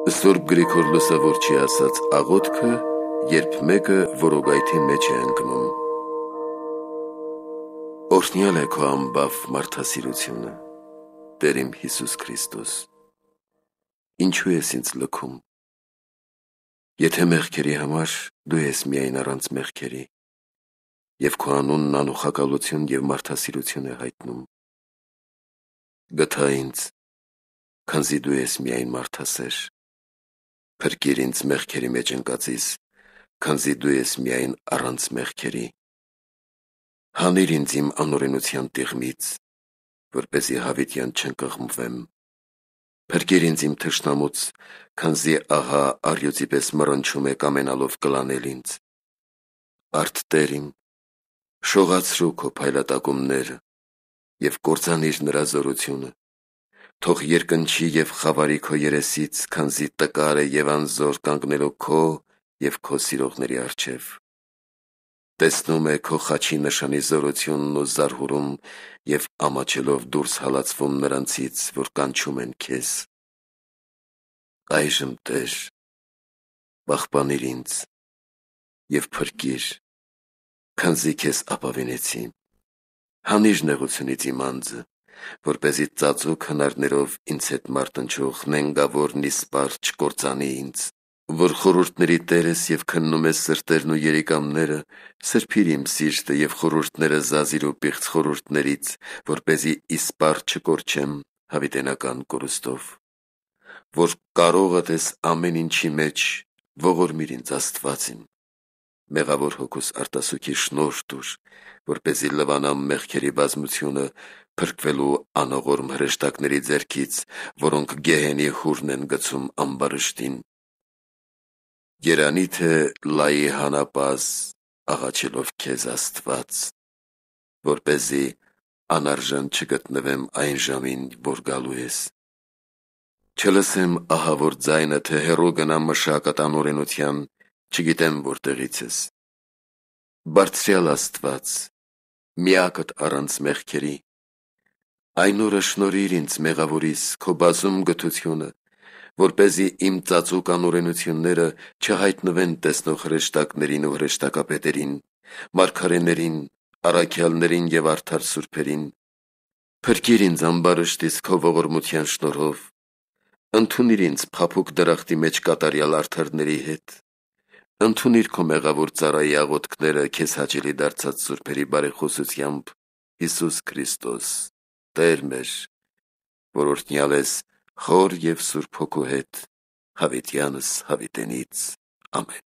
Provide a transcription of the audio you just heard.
Սուրբ Գրիգոր Լուսավորչի ասած աղոթքը, երբ մեկը որոգայթի մեջ է ընկնում։ Օրհնյալ է քո անբավ մարդասիրությունը, Տեր իմ Հիսուս Քրիստոս։ Ինչու ես ինձ լքում։ Եթե մեղքերի համար դու ես միայն առանց մեղքերի, և քո անունն անուխակալություն և մարդասիրություն է հայտնում։ Գթա ինձ, քանզի դու ես միայն մարդասեր։ Փրկիր ինձ մեղքերի մեջ ընկածից, քանզի դու ես միայն առանց մեղքերի։ Հանիր ինձ իմ անօրենության տիղմից, որպեսզի հավիտյան չընկղմվեմ։ Փրկիր ինձ իմ թշնամուց, քանզի ահա առյուծի պես մռնչում է կամենալով կլանել ինձ։ Արդ Տեր իմ, շողացրու քո փայլատակումները և կործանիր նրա զորությունը։ Թող երկնչի և խավարի քո երեսից, քանզի տկար է և անզոր կանգնելով քո և քո սիրողների առջև։ Տեսնում է քո խաչի նշանի զորությունն ու զարհուրում և ամաչելով դուրս հալածվում նրանցից, որ կանչում են քեզ։ Այժմ Տեր, պահպանիր ինձ և փրկիր, քանզի քեզ ապավինեցի։ Հանիր նեղությունից իմ անձը, որպեսզի ծածուկ հնարներով ինձ հետ մարտնչող նենգավոր նիսպար չկործանի ինձ։ Որ խորհուրդների Տեր ես և քննում ես սրտերն ու երիկամները, սրբիր իմ սիրտը և խորհուրդները զազիր ու պիղծ խորհուրդներից, որպեսզի իսպառ չկորչեմ հավիտենական կորուստով։ Որ կարողդ ես ամեն ինչի մեջ, ողորմիր ինձ Աստված իմ։ Մեղավոր հոգուս արտասուքի շնորհ տուր, որպեսզի լվանամ մեղքերի բազմությունը, փրկվելու անողորմ հրեշտակների ձեռքից, որոնք գեհենի հուրն են գցում ամբարշտին։ Երանի թե լայի հանապազ, աղաչելով քեզ Աստված, որպեսզի անարժան չգտնվեմ այն ժամին, որ գալու ես։ Չլսեմ ահավոր ձայնը, թե հեռու գնամ մշակդ անօրենության, չգիտեմ որտեղից ես։ Բարձրյալ Աստված, միակդ առանց մեղքերի, այն օրը շնորհիր ինձ մեղավորիս քո բազում գթությունը, որպեսզի իմ ծածուկ անօրենությունները չհայտնվեն տեսնող հրեշտակներին ու հրեշտակապետերին, մարգարեներին, առաքյալներին և արդար սուրբերին։ Փրկիր ինձ ամբարշտից քո ողորմության շնորհով, ընդունիր ինձ փափուկ դրախտի մեջ կատարյալ արդարների հետ։ Ընդունիր քո մեղավոր ծառայի աղոթքները քեզ հաճելի դարձած սուրբերի բարեխոսությամբ, Հիսուս Քրիստոս, Տեր մեր, որ օրհնյալ ես Հոր և Սուրբ Հոգու հետ, հավիտյանս հավիտենից։ Ամեն։